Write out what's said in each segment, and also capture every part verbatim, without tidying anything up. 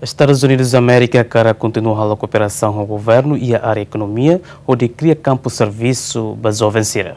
Estadus Unidus Amérika hakarak kontinua halo kooperasaun ho governu iha área ekonomia hodi kria kampu servisu ba joven sira.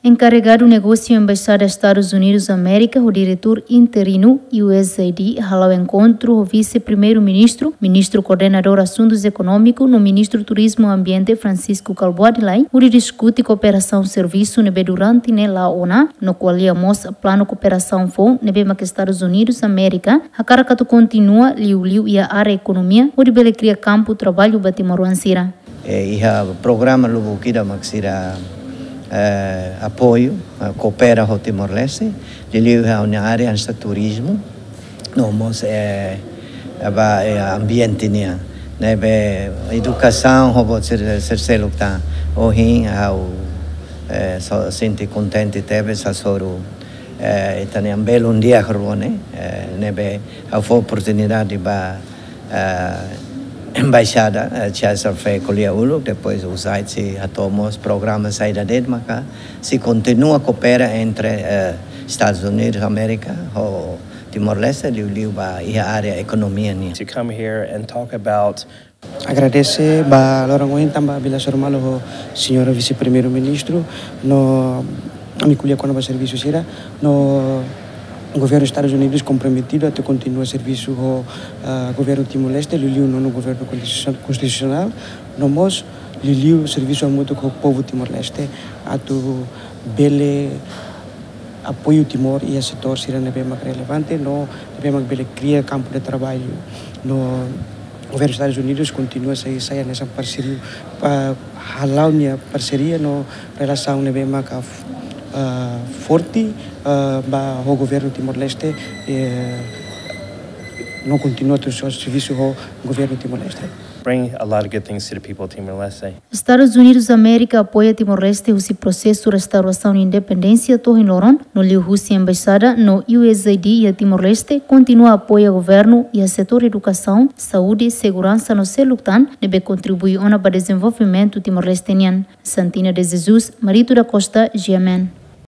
Enkarregadu negósiu Embaixada Estadus Unidus Amérika ho diretór interinu U S A I D hala'o enkontru ho Vise-Primeiru-Ministru, Ministru Koordenadór Asuntus Ekonómiku no Ministru Turizmu Ambiente Francisco Kalbuadi Lay, hodi diskute kooperasaun servisu ne'ebé durante ne'e la'o ona, no ko'alia mós planu kooperasaun foun ne'ebé mak Estadus Unidus Amérika hakarak atu kontinua liuliu iha área ekonomia hodi bele kria kampu traballu ba timoroan sira. Eh, iha programa lubuk ida mak sira, eh, apoiu, eh, koopera ho Timor-Leste, liuliu iha área hanesan turizmu, no mós, eh, ba, eh, ambiente nian. Ne'ebé edukasaun ho buat sira, sira seluk tan. Ohin ha'u, eh, só sente kontente tebes hasoru, eh, ita-nia belun di'ak rua ne'e, eh, ne'ebé ha'u fó oportunidade ba, eh, Embaixada, eh, César fó ko'alia uluk, depois U S A I D sei hato'o mós programa saida de'it maka sei kontinua koopera entre, eh, Estadus Unidus Amérika ho Timor-Leste, liuliu ba iha área ekonomia nian. To come here and talk about Agradese ba loron ohin tanba bila hasoru malu ho Señora Vise-Primeiru-Ministru, no ami ko'alia kona-ba servisu sira, no governu Estadus Unidus komprometidu atu kontinua servisu ho, ah, governu Timor-Leste, liuliu nonu governu konstitusion-, konstitusionál, no mós liuliu servisu hamutuk ho povu Timor-Leste, atu bele apoiu Timor iha setór sira ne'ebé mak relevante, no ne'ebé mak bele kria kampu de traballu. No governu Estadus Unidus kontinua sei sai hanesan parseiru, ah, hala'o nia parseria no relasaun ne'ebé mak, ah, forte, ah, ba ho governu Timor-Leste, eh, no kontinua atu servisu ho governu Timor-Leste. Bring a lot of good things to the people of Timor-Leste. Estadus Unidus Amérika apoia Timor-Leste husi prosesu restaurasaun independénsia to'o ohin loron, no liuhusi embaixada no U S A I D iha Timor-Leste kontinua apoia governu iha setór edukasaun, saúde, seguransa no seluk tan, ne'ebé kontribui ona ba dezenvolvimentu Timor-Leste nian. Santina de Jesus, Marito da Costa, G M N.